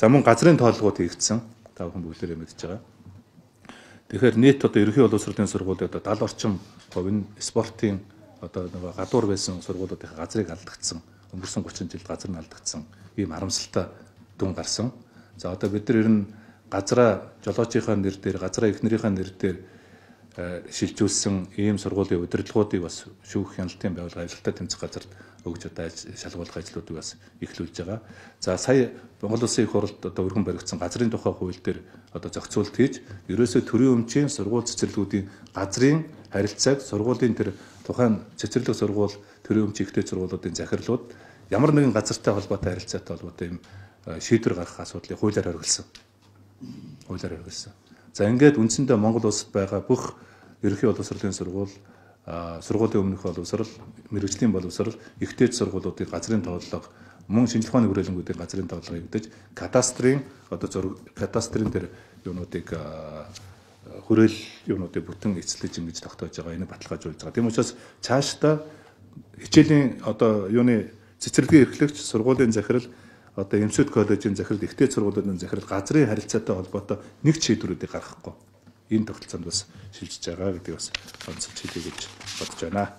За мөн газрын тоолгууд хийгдсэн. Та бүхэн бүгдээрээ мэдж байгаа. Тэгэхээр нийт одоо ерөнхий боловсролын сургуулиуд 70 орчим хувь нь спортын одоо нэг гадуур байсан сургуулиудын газрыг алдагдсан. Өнгөрсөн 30 жилд газар нь алдагдсан. Ийм харамсалтай дүн гарсан. За одоо бид нар ер нь газраа жолоочийнхаа нэр дээр, газраа эхнэрийнхээ нэр дээр шилжүүлсэн ийм сургуулийн удирдлагуудыг бас шүүх хяналтын байгууллага ажилтаа тэмцэх газарт өгж одоо шалгуулах ажлуудыг бас эхлүүлж байгаа. За сая Монгол Улсын их хурлд одоо өргөн баригдсан газрын тухай хууль дээр одоо зохицуулт хийж, ерөөсөө төрийн өмчийн сургууль цэцэрлэгүүдийн газрын харилцааг сургуулийн тэр тухайн цэцэрлэг сургууль, төрийн өмч ихтэй сургуулиудын захирлууд ямар нэгэн газартай холбоотой харилцаатай холбоотой юм шийдвэр гаргах асуудлыг хуулиар хориглосон. Хуулиар хориглосон. За ингээд үндсэндээ Монгол улсад байгаа бүх ерөнхий боловсролын сургууль, сургуулийн өмнөх боловсрол, мэргэжлийн боловсрол, ихтэй сургуулиудын газрын тооллого, мөн шинжилгээ ухааны хүрээлэнгүүдийн газрын тооллого хийгдэж, кадастрын одоо кадастрын тэр юунуудыг хүрээл юунуудыг бүтэн эцэлж ингэж тогтоож байгаа, энийг баталгаажуулж байгаа. Тийм учраас цаашдаа хичээлийн одоо юуны цэцэрлэгийн эрхлэгч, сургуулийн захирал, одоо эмчүүд коллежийн захирал, ихтэй сургуулиудын захирал газрын харилцаатай холбоотой нэг шийдвэрүүдийг гаргахгүй энэ тогтолцоонд бас шилжиж байгаа гэдгийг бас онцлж хэлье гэж бодож байна.